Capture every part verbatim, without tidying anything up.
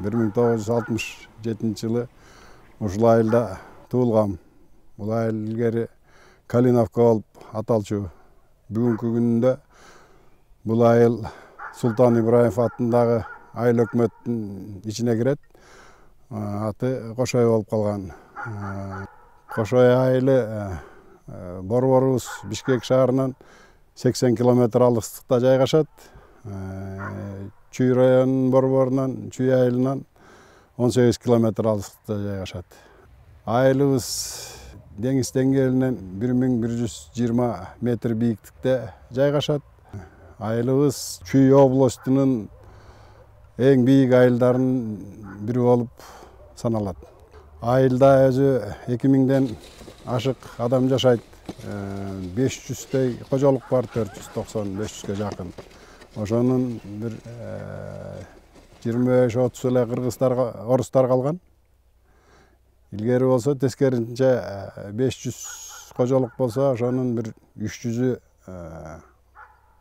бир миң тогуз жүз алтымыш жетинчи жылы ушул айылда туулгам. Бул айыл илгери Калиновка болуп аталчу. Бүгүнкү күндө бул айыл Султан Ибраев атындагы айыл өкмөттүн ичине кирет. Аты Кошой болуп калган. Кошой айылы борборубуз Бишкек шаарынан сексен километр алыстыкта жайгашат. Чүй районунун борборунан, Чүй айылынан он сегиз километр алыстыкта жайгашат. Айылыбыз деңиз деңгээлинен бир миң бир жүз жыйырма метр бийиктикте жайгашат. Айылыбыз Чүй областынын эң бийик айылдарынын бири болуп саналат. Айылда өзү эки миңден ашык адам жашайт. беш жүздөй кожолук бар, төрт жүз токсон беш жүзгө жакын. Ошонун бир жыйырма беш отуз эле кыргыздар, орустар калган. Илгери болсо тескерисинче беш жүз кожолук болсо, ошонун бир үч жүзү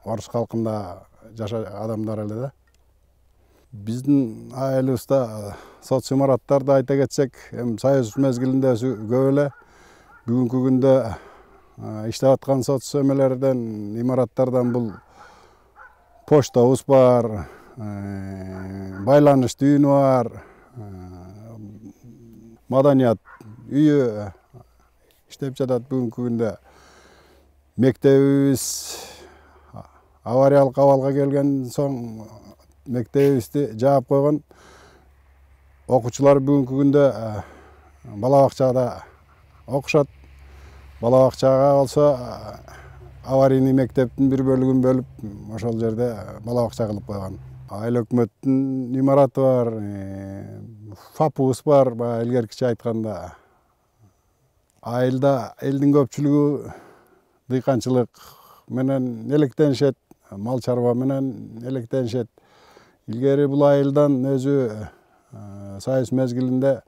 орус калкында жашаган адамдар эле да. Биздин айылыбызда соц имараттарды айта кетсек, эми Союз мезгилинде көп эле. Бүгүнкү күндө иштеп аткан соц эмелерден, имараттардан бул почтобуз бар, байланыш түйүнү бар, маданият үйү иштеп жатат бүгүнкү күндө. Мектебибиз авариялык абалга келген соң мектебибизди жаап койгон. Окуучулар бүгүнкү күндө бала бакчада окушат. Бала бакчага болсо аварийный мектептин бир бөлүгүн бөлүп, ошол жерде бала бакча кылып койгон. Айыл өкмөттүн имараты бар, фапыбыз бар, баягы илгеркиче айтканда. Айылда элдин көпчүлүгү дыйканчылык менен электенишет, мал чарба менен электенишет. Илгери бул айылдан өзү Союз мезгилинде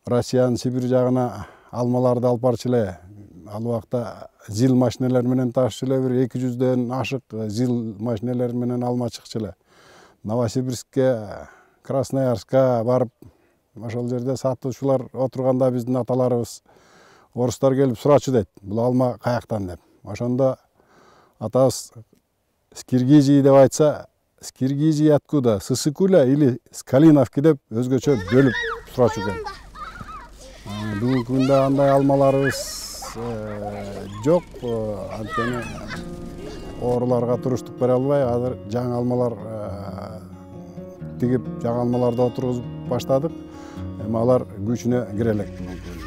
Россиянын Сибирь жагына алмаларды алып барчу эле. Ал убакта зил машинелер менен ташчу эле, бир эки жүздөн ашык зил машинелер менен алма чыкчу эле. Новосибирскке, Красноярска барып, ошол жерде сатуучулар отурганда биздин аталарыбыз, орустар келип сурачу дейт, бул алма каяктан деп. Ошондо атабыз с Киргизии деп айтса, с Киргизии откуда? С Исыкуля или с Калиновки деп өзгөчө бөлүп сурачу экен. Бүгүнкү күндө андай алмаларыбыз жок, анткени ооруларга туруштук бере албай, азыр жаңы алмалар тигип, жаңы алмаларды отургузуп баштадык. Эми алар күчүнө кире элек бүгүнкү күндө.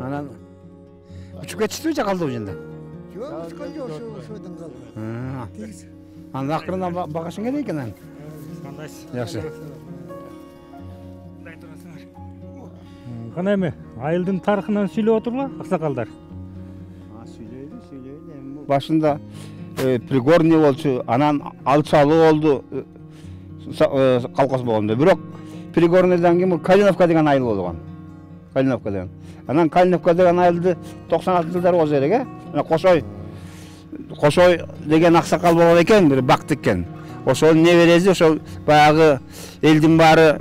Анан учуп кетиштиби же калды бул жерде? Жок, учкан жок, ошодон калды. Анан акырында багашың керек экен анан. Кандайсыз? Жакшы. Кандай турасыңар? Кана эми айылдын тарыхынан сүйлөп отургула, аксакалдар. Сүйлөйлү, сүйлөйлү. Башында пригорный болчу, анан алчалы болду, колхоз болгондо. Бирок пригорныйдан кийин Калиновка деген айыл болгон. Калиновка деген. Анан Калиновка деген айылды токсон алтынчы жылдары болжу керек, э? Мына Кошой Кошой деген аксакал болгон экен, бир бактык экен. Ошол небереси, ошол баягы элдин баары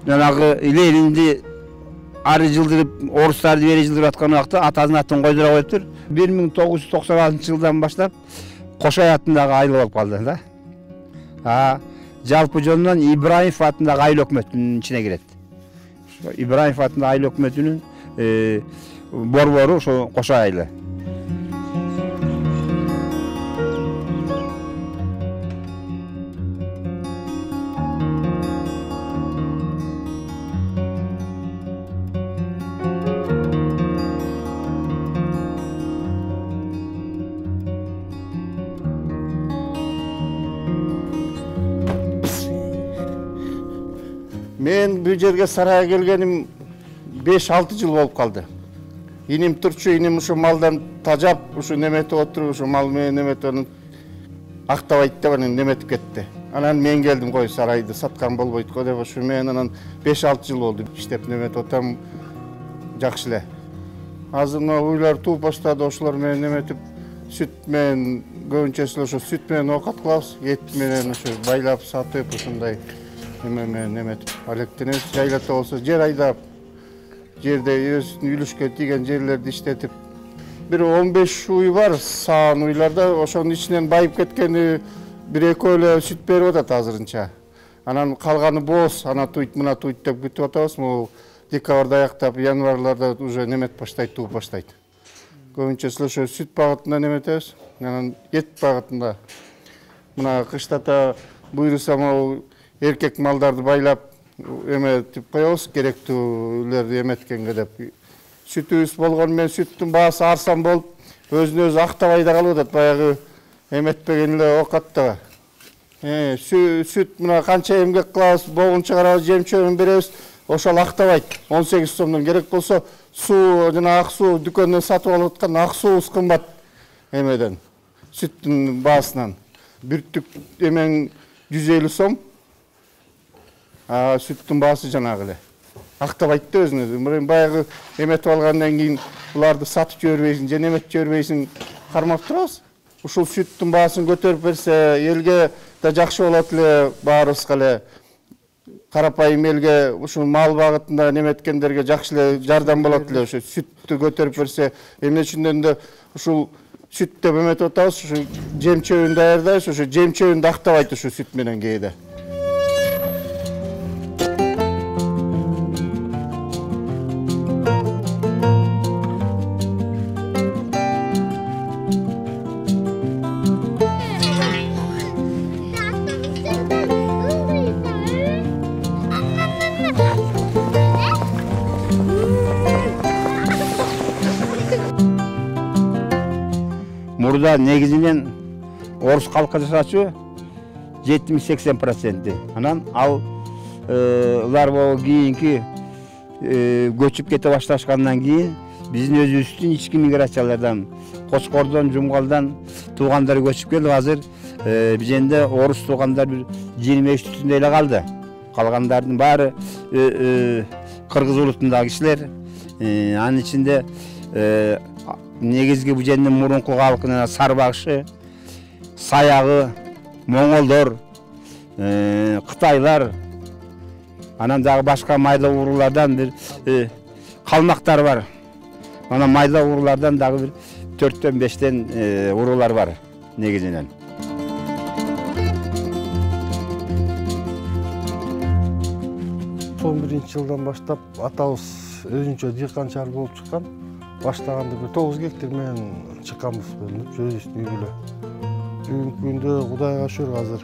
жанагы Ленинди ары жылдырып, орустарды бери жылдырып аткан убакта атасынын атын койдура коюптур. бир миң тогуз жүз токсон алтынчы жылдан баштап Кошой атындагы айыл болуп калды да. А жалпы жөнүнөн Ибраев атындагы айыл өкмөтүнүн ичине кирет. Ибраев атындагы айыл өкмөтүнүн борбору ошо Кошой айылы. Мен бул жерге сарайга келгеним беш алты жыл болуп калды. Иним турчу, иним ушу малдан тажап, ушу неметип отуруп, ушу мал менен неметип, актабайт деп анан неметип кетти. Анан мен келдим, кой сарайды саткан болбойт го деп, ошо мен анан беш алты жыл болду иштеп неметип атам, жакшы эле. Азыр мына уйлар тууп баштады, ошолор менен неметип, сүт менен көбүнчөсү ошо сүт менен оокат кылабыз, эт менен ошо байлап сатып, ушундай эме менен неметип алектенебиз. Жайлата болсо жер айдап, жерде өзүнүн үлүшкө тийген жерлерди иштетип, бир он беш уй бар, саан уйларда, ошонун ичинен байып кеткени бир экөө эле сүт берип атат азырынча. Анан калганы бооз, ана туйт, мына туйт деп күтүп атабыз. Могу декабрда аяктап, январларда уже неметип баштайт, тууп баштайт. Көбүнчөсү ошо сүт багытында неметебиз, анан эт багытында. Мына кыштата буйруса могу эркек малдарды байлап эметип коебуз, керектүүлөрдү эметкенге деп. Сүтүбүз болгону менен сүттүн баасы арзан болуп, өзүн өзү актабай да калып атат, баягы эметпеген эле оокатта. Э, сүт мына канча эмгек кылабыз, богун чыгарабыз, жем-чөбүн беребиз, ошол актабайт. он сегиз сомдон керек болсо, суу жана ак суу дүкөндөн сатып алып аткан ак суубуз кымбат эмеден, сүттүн баасынан. Бүрттүк эмен жүз элүү сом, а сүттүн баасы жанагы эле. Актабайт да өзүн өзү. Баягы эметип алгандан кийин буларды сатып жибербейсиң, же эметип жибербейсиң, кармап турабыз. Ушул сүттүн баасын көтөрүп берсе, элге да жакшы болот эле, баарыбызга эле. Карапайым элге ушул мал багытында неметкендерге жакшы эле жардам болот эле. Ошо сүттү көтөрүп берсе, эмне үчүндөн да ушул сүт деп эметип атабыз, ушу жем-чөбүн даярдайбыз, ошо жем-чөбүн актабайт ушу сүт менен кээде. Мурда негизинен орус калкы жашачу жетимиш сексен проценти. Анан алар боло кийинки көчүп кете башташкандан кийин биздин өзүбүздүн ички миграциялардан, Кочкордон, Жумгалдан туугандар көчүп келип, азыр бизенде орус туугандар бир жыйырма үч түтүндөй эле калды. Калгандардын баары кыргыз улутундагы кишилер. Анын ичинде негизги бужендин мурунку калкына Сарбагышы, Саягы, Моңолдор, Кытайлар, анан дагы башка майда уруулардан бир калмактар бар. Анан майда уруулардан дагы бир төрттөн бештен уруулар бар негизинен. он биринчи жылдан баштап атабыз өзүнчө дыйканчылар болуп чыккан. Баштаганда бир тогуз гектар менен чыкканбыз бөлүнүп, өзүбүздүн үй бүлө. Бүгүнкү күндө Кудайга шүгүр азыр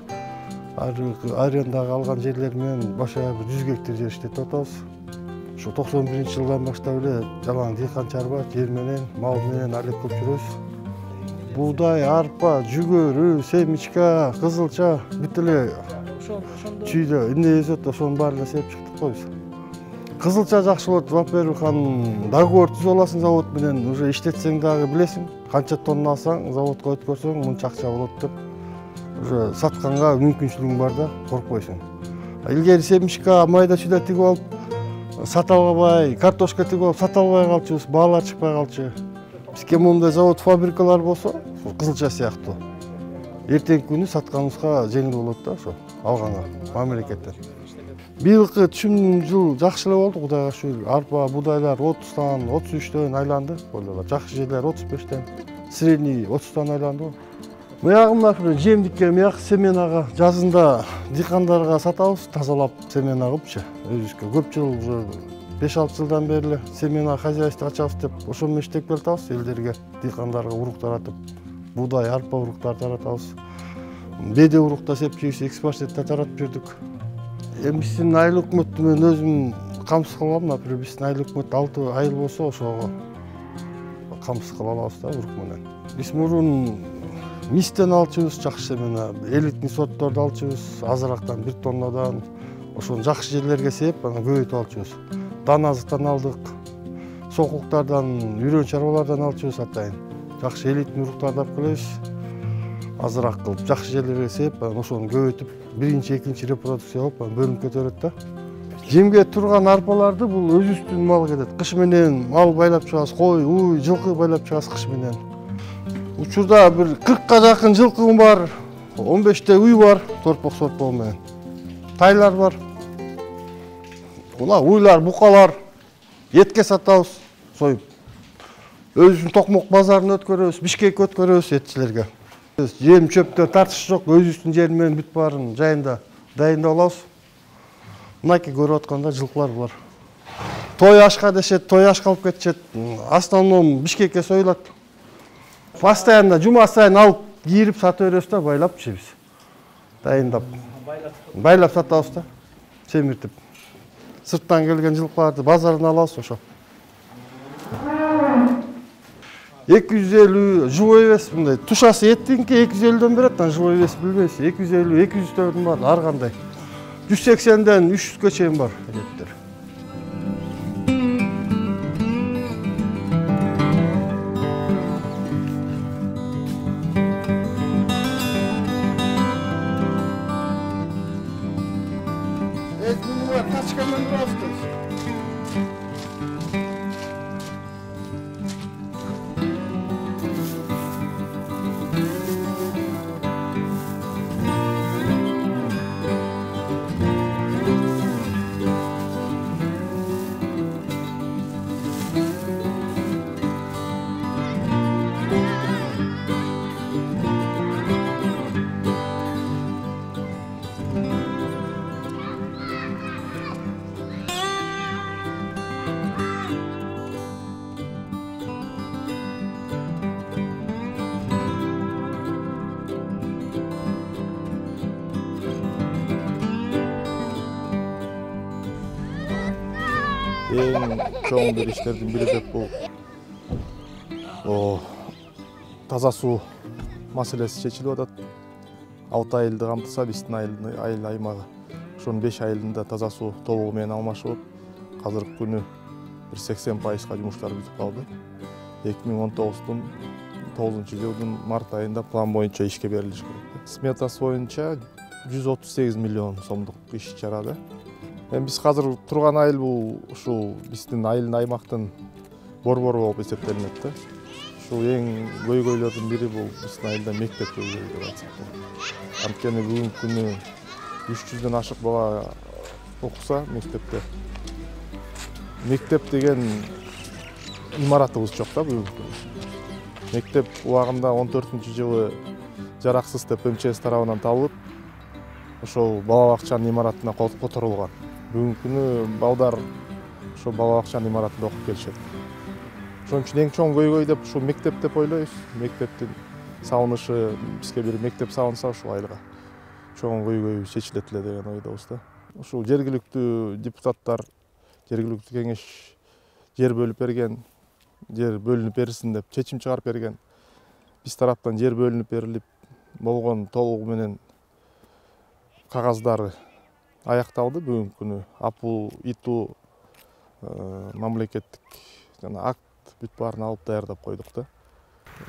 арендага алган жерлер менен башка бир жүз гектар жер иштетип атабыз. Ошо токсон биринчи жылдан баштап эле жалаң дыйканчылар бар, жер менен, мал менен алектеп жүрөбүз. Буудай, арпа, жүгөрү, семечка, кызылча бүт эле чүйдө эмне өсөт, ошонун баарын сеп чыктык го биз. Кызылча жакшы болот, во-первых, анын договор түзүп аласың завод менен, уже иштетсең дагы билесиң, канча тонна алсаң, заводко өткөрсөң мынча акча болот деп. Уже сатканга мүмкүнчүлүгүң бар да, коркпойсуң. Илгери семечка, майда чүйдө тигип алып, сата албай, картошка тигип алып, сата албай калчубуз, баалар чыкпай калчу. Бизге моундай завод, фабрикалар болсо, кызылча сыяктуу. Эртеңки күнү сатканыбызга жеңил болот да, ошо алганга мамлекеттен. Быйылкы түшүм жыл жакшы эле болду, Кудайга шүгүр. Арпа, будайлар отуздан, отуз үчтөн айланды. Жакшы жерлер отуз бештен, средний отуздан айланды. Буягыма жем диккен, буяк семенага жазында дыйкандарга сатабыз, тазалап семена кылыпчы. Өзүбүзгө көп жыл, уже беш алты жылдан бери эле семена хозяйство ачабыз деп, ошол менен иштеп келатабыз, элдерге, дыйкандарга урук таратып, будай, арпа уруктар таратабыз. Беде урукта сепчибиз, экспортта таратып жүрдүк. Эми биздин айыл өкмөттү мен өзүм камсыз кылам, например, биздин айыл өкмөт алты айыл болсо, ошого камсыз кыла алабыз да урук менен. Биз мурун мистен алчубуз, жакшы семена, элитный сортторду алчубуз, азыраактан бир тоннадан, ошону жакшы жерлерге сеп, анан көбөйтүп алчубуз. Даназыктан алдык, сокуктардан, үйрөн чарбалардан алчубуз атайын. Жакшы элитный уруктарды алып келебиз. азыраак кылып жакшы жерлерге сээп, анан ошону көбөйтүп, биринчи, экинчи репродукция болуп, анан бөлүнүп кетет да. Жемге турган арпаларды бул өзүбүздүн мал кетет. Кыш менен мал байлап чыгабыз, кой, уй, жылкы байлап чыгабыз кыш менен. Учурда бир кыркка жакын жылкым бар, он беште уй бар, торпок-сорпогу менен. Тайлар бар. Мына уйлар, букалар этке сатабыз, союп. Өзүбүздүн Токмок базарын өткөрөбүз, Бишкекке өткөрөбүз этчилерге. Жем чөптөр тартыш жок, өзүбүздүн жер менен бүт баарын жайында дайындап алабыз. Мынакей көрүп атканда жылкылар булар. Той ашка дешет, той ашка алып кетишет. Основном Бишкекке союлат. Постоянно жума сайын алып кийирип сата беребиз да, байлап жейбиз. Дайындап. Байлап сатабыз да, семиртип. Сырттан келген жылкыларды базардан алабыз ошо. эки жүз элүү живой вес мындай. Тушасы эттинки эки жүз элүүдөн берет, анан живой вес билбейсиз. эки жүз элүү, эки жүздөн бар, ар кандай. жүз сексенден үч жүзгө чейин бар еттер. Эң чоң бир иштердин бири деп бул таза суу маселеси чечилип атат. алты айылды камтыса, биздин айыл аймагы ошонун беш айылында таза суу толугу менен алмашып, азыркы күнү бир сексен пайызга жумуштар бүтүп калды. эки миң он тогуздун тогузунчу жылдын март айында план боюнча ишке берилиш керек. Сметасы боюнча жүз отуз сегиз миллион сомдук иш чарада. Эми биз азыр турган айыл бул ушул биздин айылдын аймактын борбору болуп эсептелинет да. Ушул эң көйгөйлөрдүн бири бул биздин айылда мектеп көйгөйү деп айтсак болот. Анткени бүгүнкү күнү үч жүздөн ашык бала окуса мектепте. Мектеп деген имаратыбыз жок да бүгүнкү күнү. Мектеп убагында он төртүнчү жылы жараксыз деп эм че эс тарабынан табылып, ошол бала бакчанын имаратына которулган. Бүгүнкү күнү балдар ошол бала бакчанын имаратында окуп келишет. Ошон үчүн эң чоң көйгөй деп ушул мектеп деп ойлойбуз. Мектептин салынышы, бизге бир мектеп салынса ушул айылга чоң көйгөй чечилет эле деген ойдобуз да. Ушул жергиликтүү депутаттар, жергиликтүү кеңеш жер бөлүп берген, жер бөлүнүп берилсин деп чечим чыгарып берген. Биз тараптан жер бөлүнүп берилип болгон толугу менен кагаздары аякталды бүгүнкү күнү. Апыл иту мамлекеттик жана акт бүт баарын алып даярдап койдук да.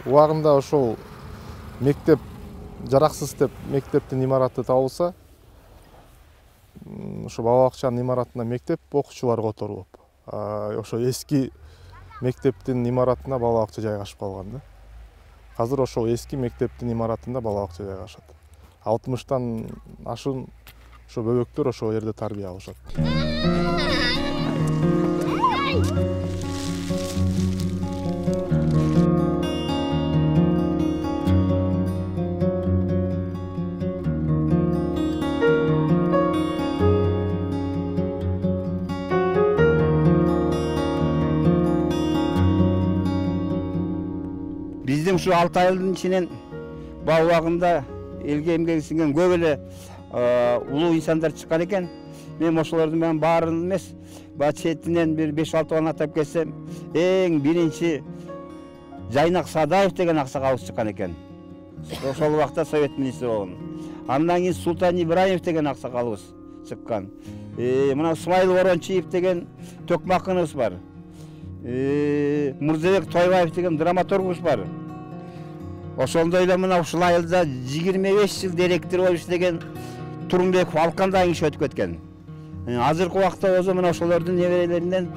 Убагында ошол мектеп жараксыз деп мектептин имараты табылса, ошо бала бакчанын имаратына мектеп окуучулар которулуп, ошо эски мектептин имаратына бала бакча жайгашып калган да. Азыр ошол эски мектептин имаратында бала бакча жайгашат. алтымыштан ашын ошо бөбөктөр ошол жерде тарбия алышат. Биздин ушу алты айылдын ичинен баа убагында элге эмгеги сиңген көп эле улуу инсандар чыккан экен. Мен ошолордун менен баарын эмес, баа четинен бир беш алты бааны атап кетсем, эң биринчи Жайнак Садаев деген аксакалыбыз чыккан экен. Ошол убакта совет министри болгон. Андан кийин Султан Ибраимов деген аксакалыбыз чыккан. Мына Смайыл Орончиев деген төкмакыныбыз бар. Мурзабек Тойбаев деген драматургубуз бар. ошондой эле мына ушул айылда жыйырма беш жыл директор болуп иштеген Турунбеков Алкан дагы иш өтүп кеткен. Азыркы убакта болсо мына ошолордун неберелеринен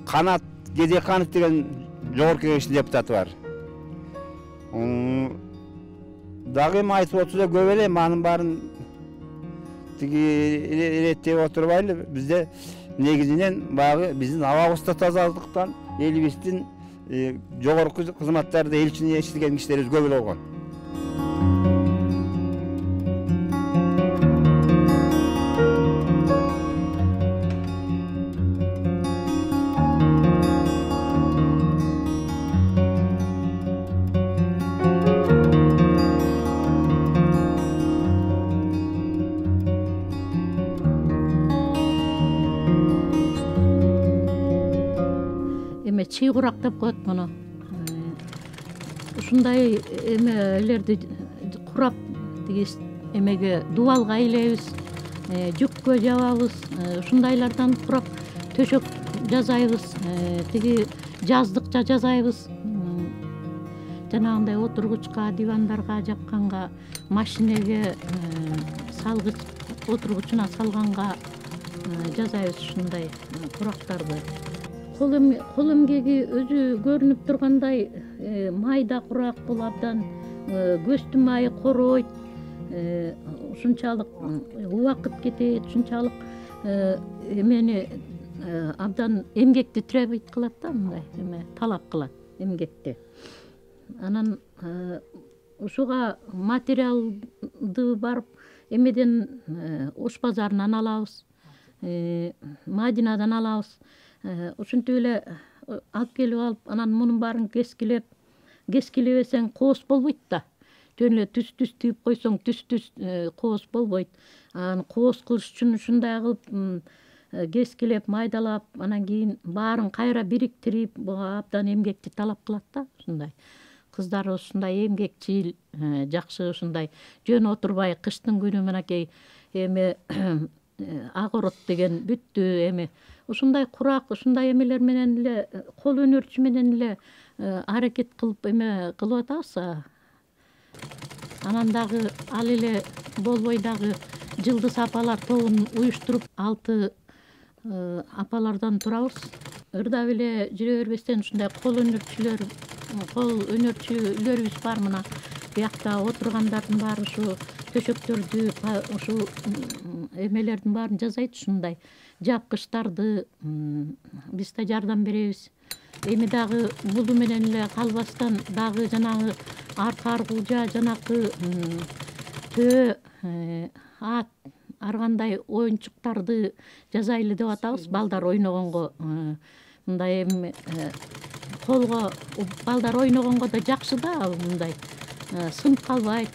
Канат Гедеканов деген жогорку кеңештин депутаты бар. Дагы эми айтып отурса көп эле, анын баарын тиги иреттеп отурбайлы. Бизде негизинен баягы биздин абабызда тазалыктан элибиздин жогорку кызматтарда элчине иштеген кишилерибиз көп эле болгон. Чый курак деп коет муну. Ушундай эмелерди курап тиги эмеге дубалга илебиз, жүккө жабабыз, ушундайлардан курап төшөк жасайбыз, тиги жаздыкча жасайбыз. Жанагындай отургучка, дивандарга жапканга, машинеге салгыч отургучуна салганга жасайбыз ушундай курактарды. Кол эмгеги өзү көрүнүп тургандай майда курак, бул абдан көздүн майы коройт, ушунчалык убакыт кетет, ушунчалык эмени абдан эмгекти требуйт кылат да, мындай эме талап кылат эмгекти. Анан ушуга материалды барып эмеден Ош базарынан алабыз, Мадинадан алабыз. Ушинтип эле алып келип алып, анан мунун баарын кескилеп, кескилебесең кооз болбойт да. Жөн эле түз-түз түйүп койсоң, түз-түз кооз болбойт. Анан кооз кылыш үчүн ушундай кылып кескилеп, майдалап, анан кийин баарын кайра бириктирип, буга абдан эмгекти талап кылат да, ушундай. Кыздар ушундай эмгекчил, жакшы ушундай жөн отурбай, кыштын күнү мынакей эми агорот деген бүттү эми ушундай курак, ушундай эмелер менен эле, кол өнөрчү менен эле аракет кылып эме кылып атабыз. Анан дагы ал эле болбой дагы жылдыз апалар тобун уюштуруп, алты апалардан турабыз. Ырдап эле жүрө бербестен ушундай кол өнөрчүлөр, кол өнөрчүлөрүбүз бар мына. Биякта отургандардын баары ушу төшөктөрдү, ушу эмелердин баарын жасайт ушундай. Жапкычтарды биз да жардам беребиз. Эми дагы бул менен эле калбастан дагы жанагы арка аргылжа, жанакы төө, ат, ар кандай оюнчуктарды жасайлы деп атабыз. Балдар ойногонго, мындай эми колго балдар ойногонго да жакшы да, мындай сынып калбайт,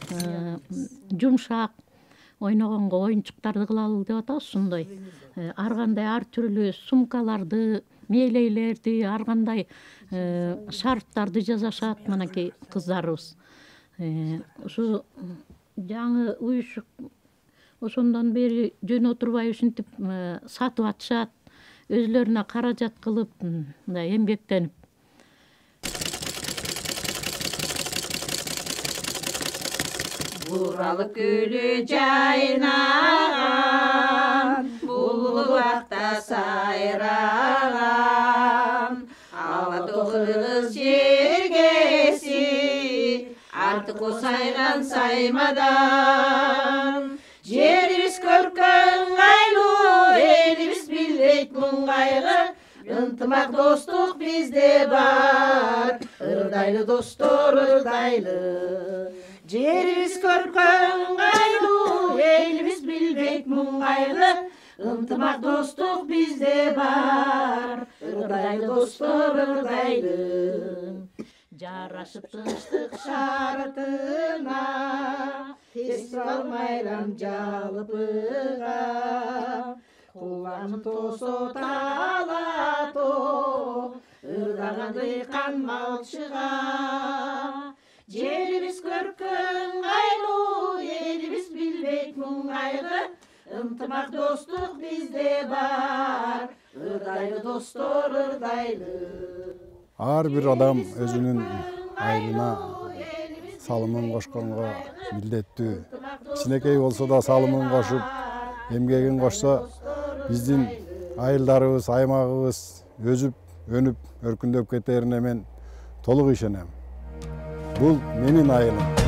жумшак ойногонго оюнчуктарды кылалы деп атабыз. Ушундай ар кандай ар түрлүү сумкаларды, мээлейлерди, ар кандай шарфтарды жасашат мынакей кыздарыбыз. Ушу жаңы уюшук ошондон бери жөн отурбай ушинтип сатып атышат, өзүлөрүнө каражат кылып, мындай эмгектенип. Буралып күлү жайнаган, булбулакта сайраган, ала кыз жергеси, артык сайган саймадан. Жерибиз көркөн айлуу, элибиз билбейт муң кайгы, ынтымак достук бизде бар, ырдайлы достор ырдайлы. Жерибиз көркөн айлуу, элибиз билбейт муң кайгы, ынтымак достук бизде бар, ырдайлы достор ырдайлы. Жарашып тынчтык шартына, фестиваль майрам жалпыга, кулан тосо талато, ырдаган дыйкан малчыга. Жерибиз көркөн айлуу, элибиз билбейт муң кайгы, ынтымак достук бизде бар, ырдайлы достор ырдайлы. Ар бир адам өзүнүн айылына салымын кошконго милдеттүү. Кичинекей болсо да салымын кошуп, эмгегин кошсо, биздин айылдарыбыз, аймагыбыз өсүп, өнүп, өркүндөп кетерине мен толук ишенем. Бул менин айылым.